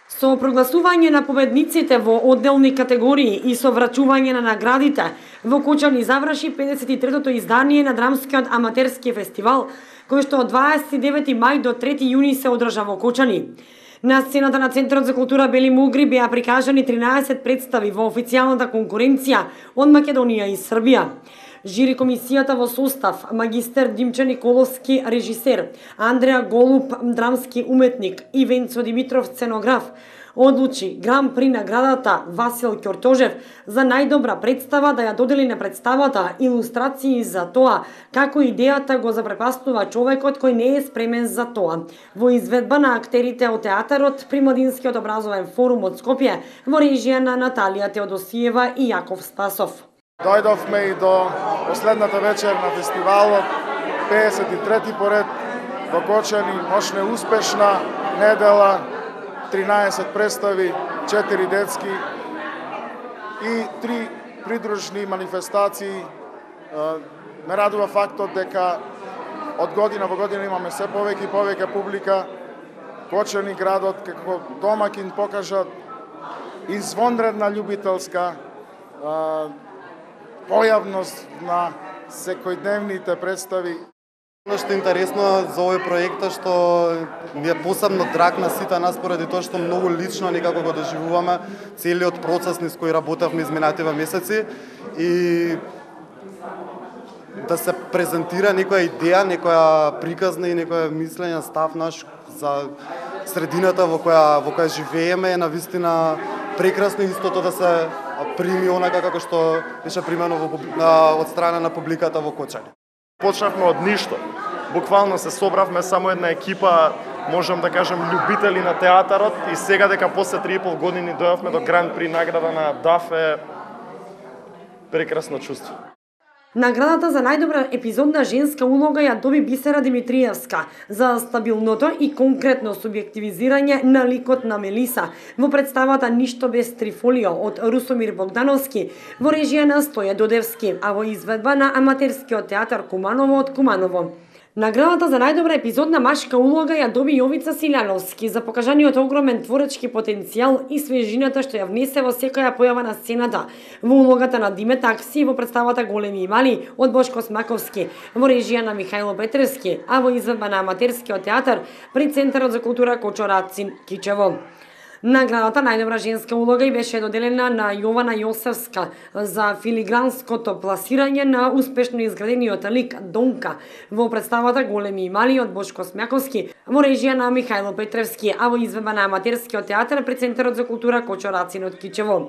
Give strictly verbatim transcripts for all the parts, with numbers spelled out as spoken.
Со прогласување на победниците во одделни категории и со врачување на наградите, во Кочани заврши педесет и третото издание на Драмскиот аматерски фестивал, кој што од дваесет и девети мај до трети јуни се одржа во Кочани. На сцената на Центарот за култура Бели Мугри беа прикажани тринаесет представи во официјалната конкуренција од Македонија и Србија. Жири комисијата во состав магистер Димче Николовски, режисер, Андреа Голуб, драмски уметник и Венцо Димитров, сценограф, одлучи Гран При наградата Васил Ќортожев за најдобра представа да ја додели на представата илустрации за тоа како идејата го запрепастува човекот кој не е спремен за тоа. Во изведба на актерите од театарот при Младинскиот образовен форум од Скопје во режија на Наталија Теодосиева и Јаков Спасов. Дојдовме и до последната вечер на фестивалот, педесет и трети поред во Кочани, ношне успешна недела, тринаесет представи, четири детски и три придружни манифестации. Ме радува фактот дека од година во година имаме се повеќе и повеќе публика. Кочани градот како домакин покажа извонредна љубителска појавност на секојдневните представи. Оно што е интересно за овој проект е што ми е посебно драг на сите нас поради тоа што многу лично некако го доживуваме целиот процес низ кој работевме изминативе месеци и да се презентира некоја идеја, некоја приказна и некоја мислење, став наш за средината во која во која живееме е навистина прекрасно истото да се прими онака како што беше примено од страна на публиката во Кочани. Почнавме од ништо. Буквално се собравме само една екипа, можам да кажам, љубители на театарот и сега дека после три и пол години дојавме до Гран При награда на ДАФ е прекрасно чувство. Наградата за најдобра епизодна женска улога ја доби Бисера Димитриевска за стабилното и конкретно субјективизирање на ликот на Мелиса во представата Ништо без Трифолио од Русомир Богдановски во режија на Стоје Додевски, а во изведба на аматерскиот театар Куманово од Куманово. Наградата за најдобра епизодна машка улога ја доби Јовица Силјановски за покажаниот огромен творечки потенцијал и свежината што ја внесе во секоја појава на сцената, во улогата на Диме Такси во представата Големи и мали од Бошко Смаковски, во режија на Михајло Петревски, а во изведба на аматерскиот театар при Центарот за култура Кочо-Рацин, Кичево. Наградата најдобра женска улога и беше доделена на Јована Јосевска за филигранското пласирање на успешно изградениот лик Донка во представата Големи и мали од Бошко Смаковски, во режија на Михајло Петревски, а во изведба на аматерскиот театар при Центарот за култура Кочо-Рацин од Кичево.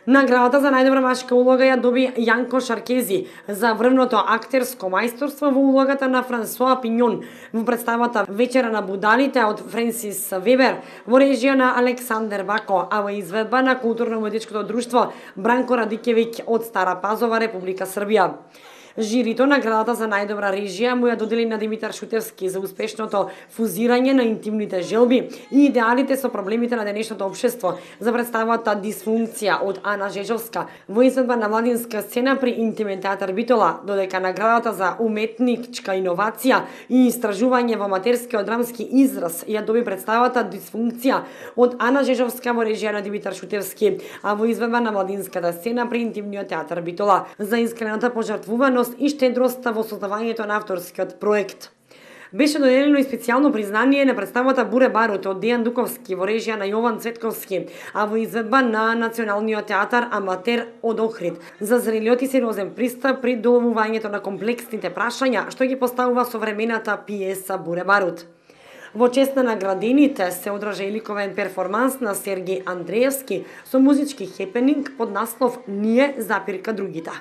Наградата за најдобра машка улога ја доби Јанко Шаркези за врвното актерско мајсторство во улогата на Франсуа Пиньон во представата Вечера на будалите од Френсис Вебер во режија на Александер Бако, а во изведба на културно-уметничкото друштво Бранко Радикевиќ од Стара Пазова, Република Србија. Жирито наградата за најдобра режија му ја додели на Димитар Шутевски за успешното фузирање на интимните желби и идеалите со проблемите на денешното општество за представата Дисфункција од Ана Жежовска во изведба на младинска сцена при Интимен театар Битола, додека наградата за уметничка иновација и истражување во аматерскиот драмски израз ја доби представата Дисфункција од Ана Жежовска во режија на Димитар Шутевски, а во изведба на младинската сцена при Интимниот театар Битола за искрената пожртвуваност и штедроста во создавањето на авторскиот проект. Беше доделено и специјално признание на представата Буре Барут од Дејан Дуковски во режија на Јован Цветковски, а во изведба на Националниот театар Аматер од Охрид за зрелиот и сериозен пристап при доловувањето на комплексните прашања што ги поставува современата пиеса Буре Барут. Во чест на наградените се одржа и ликовен перформанс на Сергеј Андреевски со музички хепенинг под наслов Ние запирка другите.